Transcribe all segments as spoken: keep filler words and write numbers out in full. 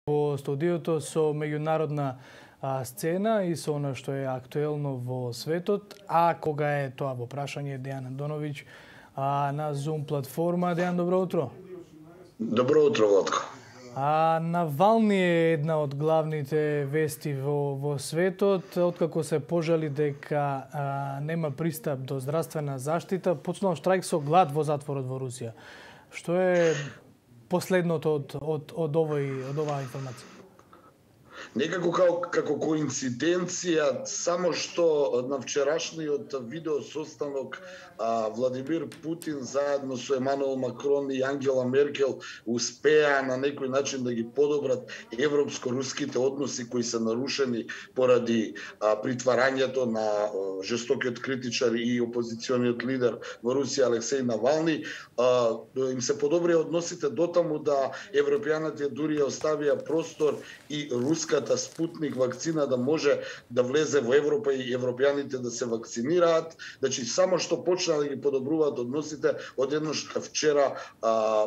во студиото со меѓународна а, сцена и со она што е актуелно во светот, а кога е тоа во прашање Дејан Андоновиќ а, на Zoom платформа. Дејан, добро утро. Добро утро, Владко. А Навални е една од главните вести во, во светот, откако се пожали дека а, нема пристап до здравствена заштита, почнал штрајк со глад во затворот во Русија. Што е последното од, од, од, овој, од оваа информација? Некако како, како коинциденција, само што на вчерашниот видео состанок а, Владимир Путин заедно со Емануел Макрон и Ангела Меркел успеа на некој начин да ги подобрат европско-руските односи кои се нарушени поради а, притварањето на а, жестокиот критичар и опозициониот лидер во Русија Алексеј Навални. А, им се подобрија односите дотаму да европјаните дури оставија простор и руската Спутник вакцина да може да влезе во Европа и европјаните да се вакцинираат. Значи, само што почна да ги подобруваат односите, одеднаш вчера а,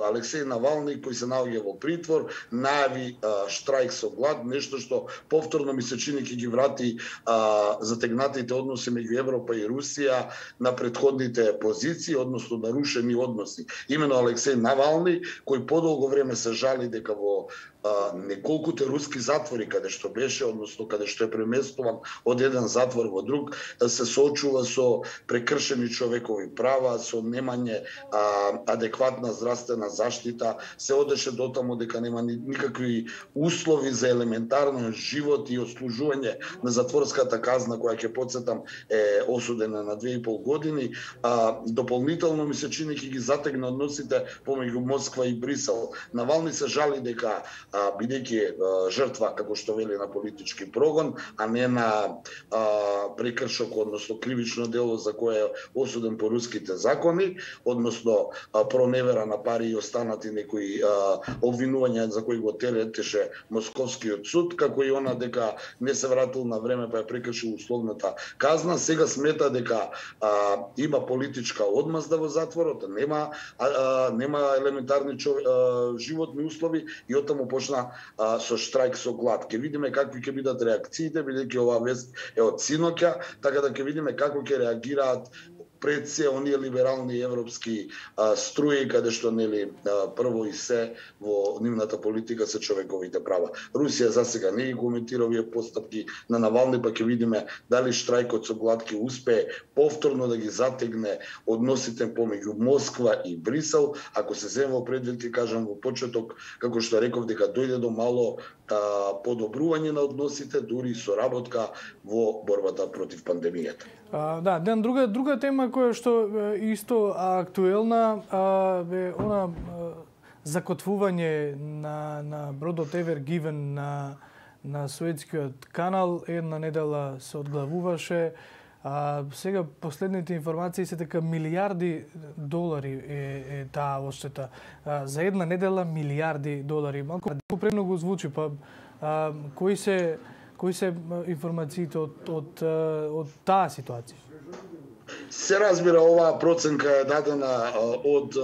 Алексеј Навални, кој се наоѓа во притвор, најави а, штрајк со глад, нешто што повторно ми се чини ќе ги врати а, затегнатите односи меѓу Европа и Русија на претходните позиции, односно нарушени односи. Имено Алексеј Навални, кој подолго време се жали дека во а, неколкуте руски затвори каде што беше, односно каде што е преместуван од еден затвор во друг, се соочува со прекршени човекови права, со немање а, адекватна здравствена заштита, се одеше дотаму дека нема никакви услови за елементарно живот и отслужување на затворската казна која ќе потсетам е осудена на две и пол години. А, дополнително ми се чини ќе ги затегне односите помеѓу Москва и Брисел. Навални се жали дека а, бидејќи жртва, како што вели, на политички прогон, а не на а, прекршок, односно кривично дело за кое е осуден по руските закони, односно а, проневера на пари и останати некои а, обвинувања за кои го теретеше Московскиот суд, како и она дека не се вратил на време па ја прекршил условната казна. Сега смета дека а, има политичка одмазда во затворот, нема а, а, нема елементарни чов... а, животни услови и оттаму почна а, со штрајк со глад. Ке видиме какви ќе бидат реакциите, бидејќи оваа вест е од синоќа, така да ќе видиме како ќе реагираат пред се оние либерални европски а, струи, каде што нели а, прво и се во нивната политика се човековите права. Русија засега не ги коментира овие постапки на Навални, па ќе видиме дали штрајкот со глад ќе успее повторно да ги затегне односите помеѓу Москва и Брисел, ако се земе во предвид, ќе кажам во почеток, како што реков, дека дојде до мало а, подобрување на односите, дури соработка во борбата против пандемијата. А, да, Ден, друга друга тема која што е исто актуелна е она а, закотвување на на бродот Ever Given на на Суетскиот канал. Една недела се одглавуваше. А, сега последните информации се дека милиарди долари е, е таа одштета. А, за една недела милиарди долари. Малку премногу звучи, па а, кои се кои се информациите од од од таа ситуација? Се разбира, оваа проценка е дадена од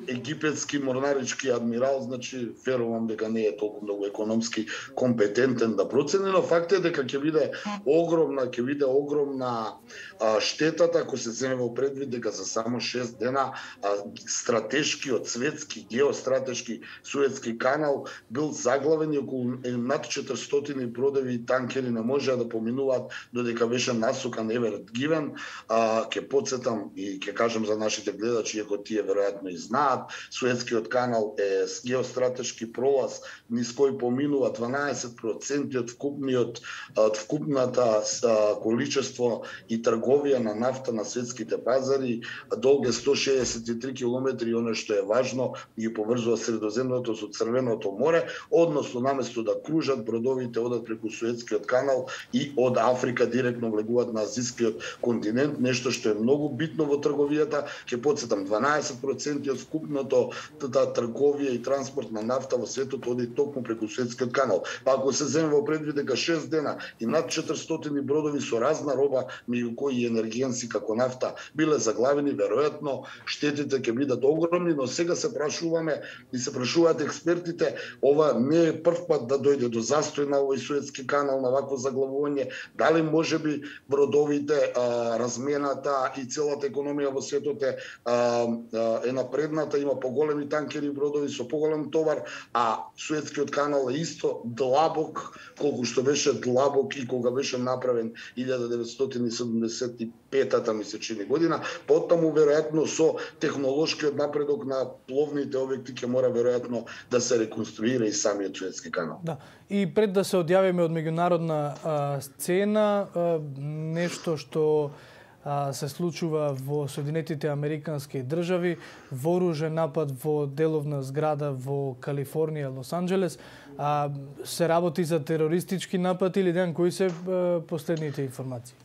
египетски морнарички адмирал, значи верувам дека не е толку многу економски компетентен да процени, но факт е дека ќе биде огромна, ќе биде огромна а, штетата ако се земе во предвид дека за само шест дена а, стратешкиот светски геостратешки Суетски канал бил заглавен и околу над четиристотини бродови и танкери не можеа да поминуваат додека беше насукан Ever Given. А, ке подсетам и ке кажам за нашите гледачи, иако тие веројатно и знаат, Суетскиот канал е геостратешки пролаз низ кој поминува дванаесет проценти од вкупниот од вкупната а, количество и трговија на нафта на светските пазари. Долг е сто шеесет и три километри, оно што е важно, ги поврзува Средоземното со Црвеното море, односно наместо да кружат бродовите одат преку Суетскиот канал и од Африка директно влегуваат на Азискиот континент, елемент, нешто што е многу битно во трговијата. Ќе потсетам, дванаесет проценти од скупното трговија и транспорт на нафта во светот оди токму преку Суетскиот канал. Па ако се земе во предвид дека шест дена и над четиристотини бродови со разна роба, меѓу кои и енергенси како нафта, биле заглавени, веројатно штетите ќе бидат огромни, но сега се прашуваме и се прашуваат експертите, ова не е прв пат да дојде до застој на овој Суетски канал, на вакво заглавување, дали можеби бродовите, а, размената и целата економија во светот е, а, е напредната, има поголеми танкери бродови со поголем товар, а Суетскиот канал е исто длабок колку што беше длабок и кога беше направен илјада деветстотини седумдесет и петата ми се чини година. Потаму веројатно со технолошкиот напредок на пловните објекти ќе мора веројатно да се реконструира и самиот Суетски канал. Да. И пред да се одјавиме од меѓународна а, сцена, а, нешто што а, се случува во Соединетите Американски држави, вооружен напад во деловна зграда во Калифорнија, Лос Анџелес, а, се работи за терористички напад или ден, кои се а, последните информации?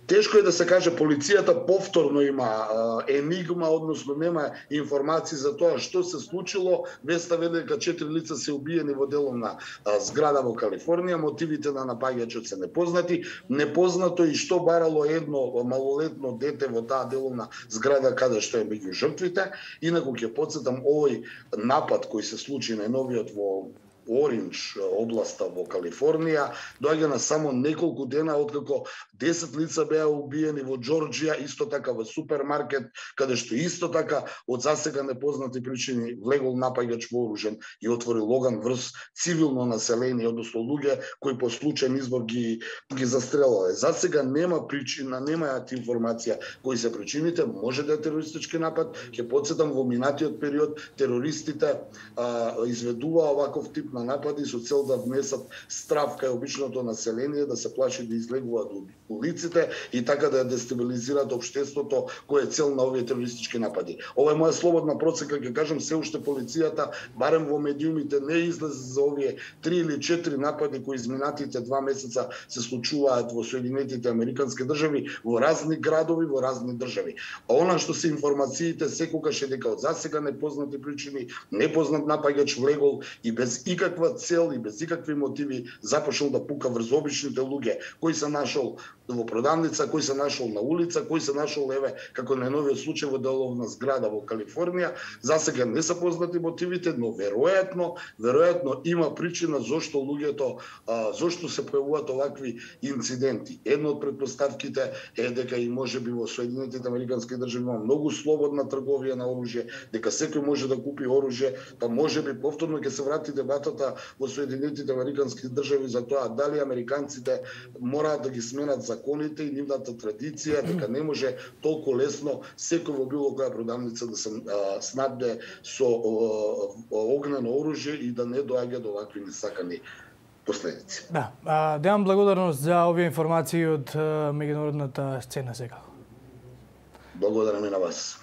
Тешко е да се каже, полицијата повторно има а, енигма, односно нема информации за тоа што се случило. Веста веле дека четири лица се убиени во деловна а, зграда во Калифорнија, мотивите на напаѓачот се непознати. Непознато и што барало едно малолетно дете во таа деловна зграда каде што е меѓу жртвите. Инаку ќе потсетам, овој напад кој се случи најновиот во Оринч, областа во Калифорнија, доаѓа на само неколку дена откако десет лица беа убиени во Џорџија, исто така во супермаркет, каде што исто така од засега непознати причини влегол напаѓач вооружен и отворил оган врз цивилно население, односно луѓе кои по случајен избор ги ги застрелале. Засега нема причина, немаат информација кои се причините, може да е терористички напад. Ќе потсетам, во минатиот период терористите а, изведува оваков тип на напади со цел да внесат страв кај обичното население, да се плаши да излегуваат од улиците и така да дестабилизираат општеството, кој е цел на овие терористички напади. Ова е моја слободна процека, ќе кажам, се уште полицијата, барем во медиумите, не излезе за овие три или четири напади кои изминатите два месеца се случуваат во Соединетите Американски држави, во разни градови, во разни држави. А она што се информациите секогаш е дека од засега непознати причини, непознат напаѓач влегол и без никаква цел и без никакви мотиви започнал да пука врз обичните луѓе, кои се нашол во продавница, кој се нашол на улица, кој се нашол, еве, како најновиот случај во деловна зграда во Калифорнија. Засега не се познати мотивите, но веројатно, веројатно има причина зошто луѓето, а, зошто се појавуваат овакви инциденти. Една од претпоставките е дека и можеби во Соединетите Американски држави има многу слободна трговија на оружје, дека секој може да купи оружје, па можеби повторно ќе се врати дебатата во Соединетите Американски држави за тоа дали американците мораат да ги сменат законите и нивната традиција, дека не може толку лесно секој во било која продавница да се а, снабде со а, огнено оружје и да не доаѓа до овакви несакани последици. Да, а, давам благодарност за овие информации од меѓународната сцена сега. Благодарам и на вас.